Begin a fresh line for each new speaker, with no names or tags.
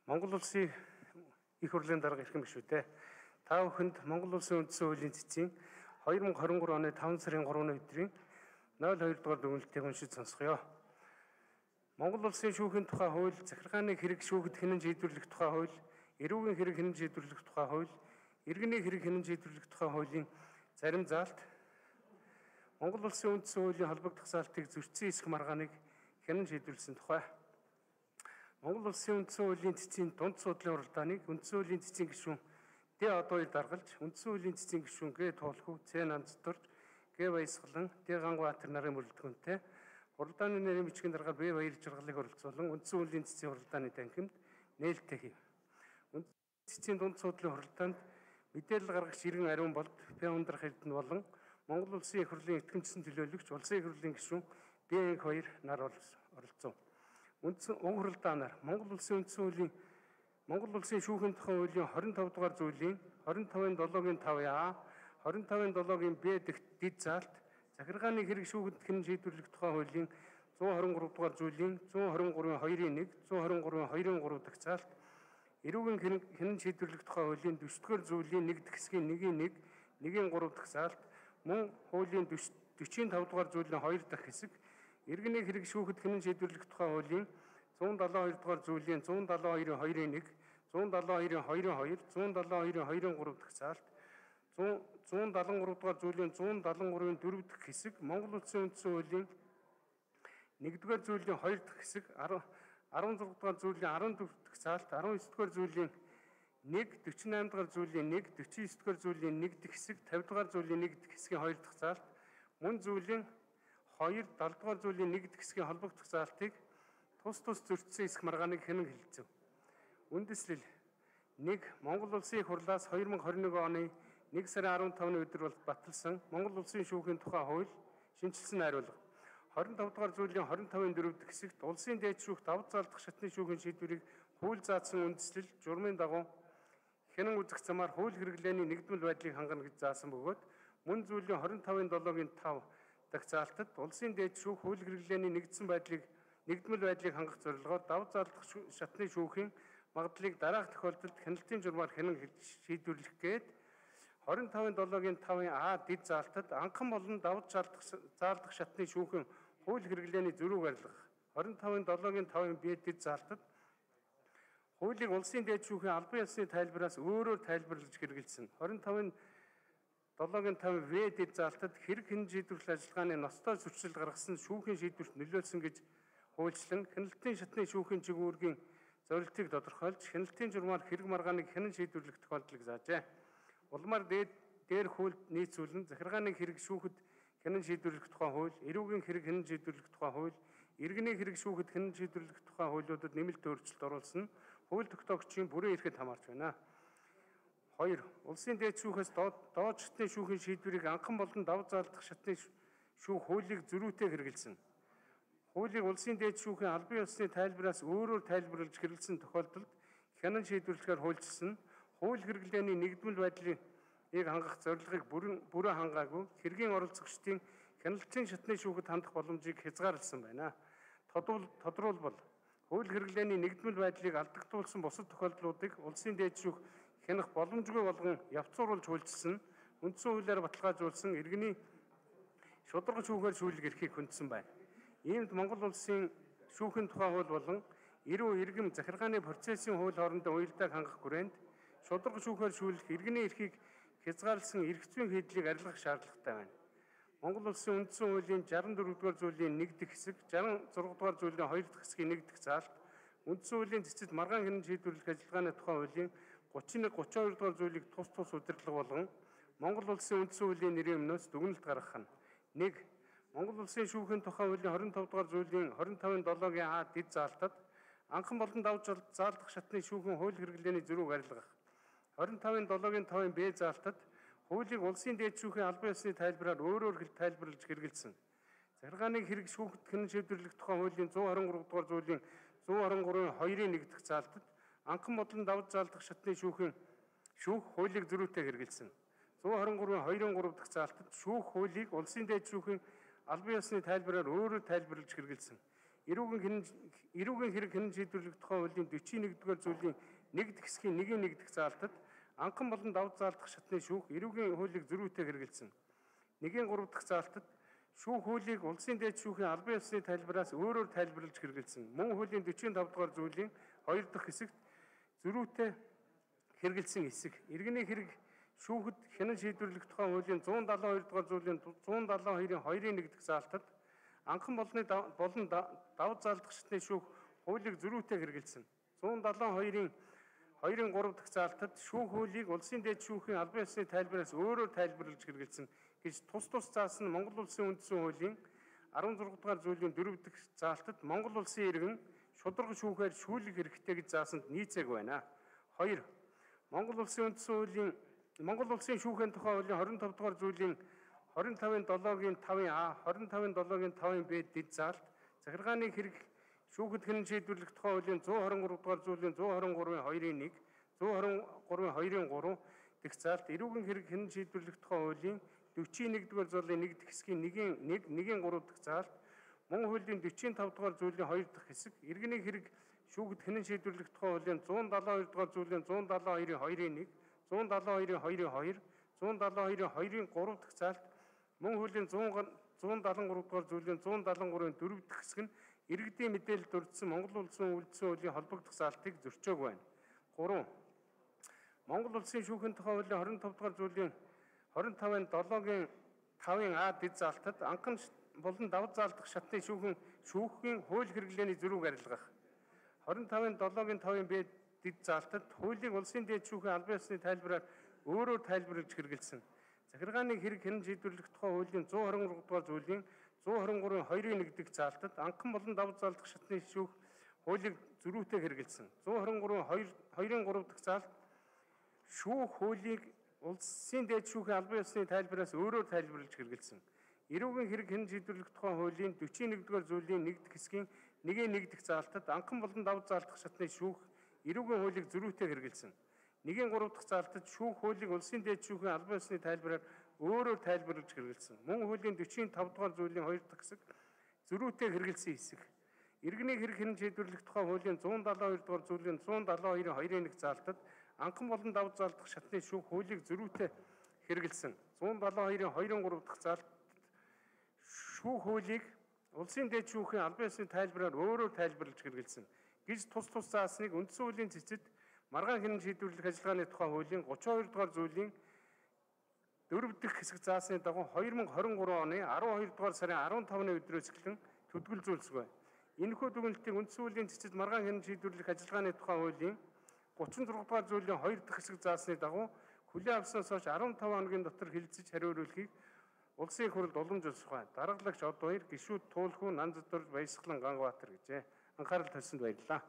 Монгол улсын их хурлын дарга ирэх юм биш үү те. Та бүхэнд Монгол улсын үндсэн хуулийн цэцгийн 2023 оны 5 сарын 3-ны өдрийн 02 дугаар дүгнэлтийг уншиж сонсгоё. Монгол улсын шүүхийн тухай хууль, захиргааны хэрэг шүүхэд хянан шийдвэрлэх тухай хууль, эрүүгийн хэрэг хянан шийдвэрлэх тухай хууль, иргэний хэрэг хянан шийдвэрлэх тухай хуулийн зарим заалт Монгол улсын үндсэн хуулийн холбогдох заалтыг зөрчсөн эсэх маргааныг хянан шийдвэрлсэн тухай. Монгол улсын үндсэн хуулийн цэцгийн дунд судлалын уралдааныг үндсэн хуулийн цэцгийн гишүүн Д-2 даргалж, үндсэн хуулийн цэцгийн гишүүн Г-Тоолхов, Ц-Нанцторж, Г-Баясгалан, Д-Гангуатар нарын мөрөлдгөнтэй уралдааны нэрийн бичгийн дарга Б-Баяр жаргалыг оролцуулан үндсэн хуулийн цэцгийн уралдааны танхимд нээлттэй хийв. Үндсэн цэцгийн дунд судлалын уралдаанд мэдээлэл гаргагч иргэн ариун болд П-Ундрах Эрдэнэ болон Монгол улсын их хурлын итгэмжсэн төлөөлөгч улсын их хурлын гишүүн Б-2 нар оролцов. Үндсэн уралдаанаар Монгол улсын шүүхийн тухай хуулийн 25 дугаар зүйлийн 25-7-гийн 5А, 25-7-гийн Б дэх дэд заалт, захиргааны хэрэг шүүхэд хянан шийдвэрлэх тухай хуулийн 123 дугаар зүйлийн 123-2-ийн 1, 123-2-ийн 3 дахь заалт, эрүүгийн хянан шийдвэрлэх тухай хуулийн 40-р зүйлийн 1 дэх хэсгийн 1-ийн 1, 1-ийн 3 дахь заалт, мөн хуулийн 45 дугаар зүйлийн 2 дахь хэсэг, иргэний хэрэг шүүхэд хянан шийдвэрлэх тухай хуулийн 172 дугаар зүйлийн 172-ийн 2-ийн 1, 172-ийн 2-ийн 2, 172-ийн 2-ийн 3 дахь заалт, 173 дугаар зүйлийн 173-ийн 4 дахь хэсэг, Монгол улсын үндсэн хуулийн 1-р зүйлийн 2 дахь хэсэг, 16 дугаар зүйлийн 14 дахь заалт, 19 дугаар зүйлийн 1, 48 дугаар зүйлийн 1, 49 дугаар зүйлийн 1 дахь хэсэг, 50 дугаар зүйлийн 1 дахь хэсгийн 2 дахь заалт, мөн зүйлийн 2, 70 дугаар зүйлийн 1 дахь хэсгийн холбогдох заалтыг тус зөрчсөн эсэх маргааныг хянан хэлэлцэв. Үндэслэл 1. Монгол улсын их хурлаас 2021 оны 1 сарын 15-ны өдөр бол баталсан Монгол улсын шүүхийн тухай хууль шинжилсэн найруулга 25 дугаар зүйлийн 25-ын 4 дахь хэсэгт улсын дээд шүүх давж заалдах шатны шүүхийн шийдвэрийг хууль заасан үндэслэл журмын дагуу хянан үзэх замаар хууль хэрэглээний нэгдмэл байдлыг хангана гэж заасан бөгөөд мөн зүйлийн 25-7-гийн 5 дахь заалтад улсын дээд шүүх хууль хэрэглээний нэгдмэл байдлыг хангах зорилгоор давж заалдах шатны шүүхийн магадлалыг дараах тохиолдолд хяналтын журмаар хянан шийдвэрлэх гээд 25-7-гийн 5-ын А дэд заалтад анхан болон давж заалдах шатны шүүхийн хууль хэрэглээний зөрүүг арилгах 25-7-гийн 5-ын Б дэд заалтад хуулийг улсын дээд шүүхийн албан ёсны тайлбараас өөрөөр тайлбарлаж хэрэгэлсэн 25-7-гийн 5 В дэд заалтад хэрэг хянан шийдвэрлэх ажиллагааны ностой зөрчил гаргасан шүүхийн шийдвэрт нөлөөлсөн гэж хуульчлан хяналтын шатны шүүхийн чиглэлийн зорилтыг тодорхойлж хяналтын журмаар хэрэг маргааныг хянан шийдвэрлэх тохиолдлыг заажээ. Улмаар дээр хуульд нийцүүлэн захиргааны хэрэг шүүхэд хянан шийдвэрлэх тухай хууль, эрүүгийн хэрэг хянан шийдвэрлэх тухай хууль, иргэний хэрэг шүүхэд хянан шийдвэрлэх тухай хуулиудад нэмэлт өөрчлөлт оруулсан хууль тогтоогчийн бүрэн эрхэд хамаарч байна. 2. Улсын дээд шүүхээс доод шатны шүүхийн шийдвэрийг анхан болон давж заалдах шатны шүүх хуулийг зөрүүтэй хэрэгэлсэн. Хуулийг улсын дээд шүүхийн албан ёсны тайлбараас өөрөөр тайлбарлаж хэрэгэлсэн тохиолдолд хянан шийдвэрлэхээр хуульчилсан хууль хэрэглээний нэгдмэл байдлыг хангах зорилгыг бүрэн хангаагүй хэргийн оролцогчдын хяналтын шатны шүүхэд хандах боломжийг хязгаарласан байна. Тодорхойлбол хууль хэрэглээний нэгдмэл байдлыг алдагдуулсан бусад тохиолдлуудыг улсын дээд шүүх хянах боломжгүй болгон явцууруулж хуульчилсан үндсэн хуулиар баталгаажуулсан иргэний шударга шүүхээр шүүлэг эрхийг хүндсэн байна. Иймд Монгол улсын шүүхийн тухай хууль болон эрүү иргэм захиргааны процессын хууль хоорондын уялдааг хангах хүрээнд шударга шүүхээр шүүлэх иргэний эрхийг хязгаарласан эрх зүйн хийдлийг арилгах шаардлагатай байна. Монгол улсын үндсэн хуулийн 64 дугаар зүйлийн 1 дэх хэсэг, 66 дугаар зүйлийн 2 дахь хэсгийн 1 дахь заалт, үндсэн хуулийн цэцэд маргаан хянан шийдвэрлэх ажиллагааны тухай хуулийн 31, 32 дугаар зүйлийг тус удирдлага болгон Монгол улсын үндсэн хуулийн нэрийн өмнөөс дүгнэлт гаргах нь 1. Монгол улсын шүүхийн тухай хуулийн 25 дугаар зүйлийн 25-7-гийн А дэд заалтад анхан болон давж заалдах шатны шүүхийн хууль хэрэглээний зөрүүг арилгах 25-7-гийн 5-ын Б заалтад хуулийг улсын дээд шүүхийн албан ёсны тайлбараар өөрөөр тайлбарлаж хэрэгэлсэн. Захиргааны хэрэг шүүхэд хянан шийдвэрлэх тухай хуулийн 123 дугаар зүйлийн 123-ийн 2-ийн 1 дахь заалтад анхан болон давж заалдах шатны шүүх хуулийг зөрүүтэй хэрэгэлсэн. 123-ийн 2-ийн 3 дахь заалтад шүүх хуулийг улсын дээд шүүхийн албан ёсны тайлбараар өөрөөр тайлбарлаж хэрэгэлсэн. эрүүгийн хэрэг хянан шийдвэрлэх тухай хуулийн 41-р зүйлийн 1-р хэсгийн 1-р заалтад анхан болон давж заалдах шатны шүүх эрүүгийн хуулийг зөрүүтэй хэрэгжилсэн. 1-р заалтад шүүх хуулийг улсын дээд шүүхийн албан ёсны тайлбараас өөрөөр тайлбарлаж хэрэгжилсэн. Мөн хуулийн 45-р зүйлийн 2 дахь хэсэгт зөрүүтэй хэрэгжилсэн хэсэг. Иргэний хэрэг шүүхэд хянан шийдвэрлэх тухай хуулийн 172-р зүйлийн 172-ийн 2-ын 1-р заалтад анхан болон давж заалдах шатны шүүх хуулийг зөрүүтэй хэрэгжилсэн. 172-ийн 2-ын 3 дахь заалтад шүүх хуулийг улсын дээд шүүхийн албан ёсны тайлбараас өөрөөр тайлбарлаж хэрэгжилсэн гэж тус заасан Монгол Улсын үндсэн хуулийн 16 дугаар зүйлийн 4 дахь заалтад Монгол Улсын иргэн шударга шүүхээр шүүлэх хэрэгтэй гэж заасанд нийцээг байна. 2. Монгол Улсын үндсэн хуулийн Монгол Улсын шүүхийн тухай хуулийн 25 дугаар зүйлийн 25-ийн 5A, 25-ийн 5B дэд заалт, захиргааны хэрэг шүүхэд хянан шийдвэрлэх тухай хуулийн 123 дугаар зүйлийн 123-ийн 2-ын 1, 123-ийн 2-ын 3 дэх заалт, эрүүгийн хэрэг хянан шийдвэрлэх тухай хуулийн 41-р зүйлийн 1 дахь хэсгийн 1-ийн 3 дахь заалт, мөн хуулийн 45 дугаар зүйлийн 2 дахь хэсэг, иргэний хэрэг шүүхэд хянан шийдвэрлэх тухай хуулийн 172 дугаар зүйлийн 172-ийн 2-ын 1, 172-ийн 2-ын 2, 172-ийн 2-ын 3 дахь заалт, мөн хуулийн 173 дугаар зүйлийн 173-ийн 4 дахь хэсэг нь иргэдийн мэдээлэлд дурдсан Монгол Улсын үлдсэн хуулийн холбогдох заалтыг зөрчөөг байна. 3. Монгол Улсын шүүхийн тухай хуулийн 25 дугаар зүйлийн 25-ын 7-гийн 5-ын А дэд заалтад анхан болон давж заалдах шатны шүүхийн хууль хэрэглээний зөрүүг арилгах. 25-ын 7-гийн 5-ын Б дэд заалтад хуулийг улсын дээд шүүхийн албан ёсны тайлбараар өөрөөр тайлбарлаж хэрэгжилсэн. Захиргааны хэрэг хянан шийдвэрлэх тухай хуулийн 123 дугаар зүйлийн 123-ийн 2-ын 1 заалтад анхан болон давж заалдах шатны шүүх хуулийг зөрүүтэй хэрэгжилсэн. 123-ийн 2-ын 3 дахь заалт шүүх хуулийг улсын дээд шүүхийн албан ёсны тайлбараас өөрөөр тайлбарлаж хэрэгжилсэн. Эрүүгийн хэрэг хянан шийдвэрлэх тухай хуулийн 41-р зүйлийн 1 дахь хэсгийн 1-ийн 1 дахь заалтад анхан болон давж заалдах шатны шүүх эрүүгийн хуулийг зөрүүтэй хэрэгжилсэн. 1-ийн 3 дахь заалтад шүүх хуулийг улсын дээд шүүхийн албан ёсны тайлбараар өөрөөр тайлбарлаж хэрэгжилсэн. Мөн хуулийн 45 дугаар зүйлийн 2 дахь хэсэг зөрүүтэй хэрэгжилсэн хэсэг. Иргэний хэрэг хянан шийдвэрлэх тухай хуулийн 172 дугаар зүйлийн 172-ийн 2-ын 1 заалтад анхан болон давж заалдах шатны шүүх хуулийг зөрүүтэй хэрэгжилсэн. 172-ийн 2-ын 3 дахь заалт шүүх хуулийг улсын дээд шүүхийн албан ёсны тайлбараар өөрөөр тайлбарлаж хэрэгжилсэн гэж тус заасныг үндсэн хуулийн цэцэд маргаан хянан шийдвэрлэх ажиллагааны тухай хуулийн 32 дугаар зүйлийн 4 дахь хэсэг заасны дагуу 2023 оны 12 дугаар сарын 15-ны өдрөөс эхлэн төдгөлзүүлсэгүй. Энэхүү дүгнэлтийг үндсэн хуулийн цэцэд маргаан хянан шийдвэрлэх ажиллагааны тухай хуулийн 36 дугаар зүйлийн 2 дахь хэсэг заасны дагуу хүлээн авснаас хойш 15 хоногийн дотор хэлэлцэж хариулуулахыг улсын их хурлд уламжуулах байна. Даргалагч Од Баяр, гишүүд Туулхүү, Нанзатур, Баясгалан, Ганбаатар гэжээ. Анхаарал тавьсанд баярлалаа.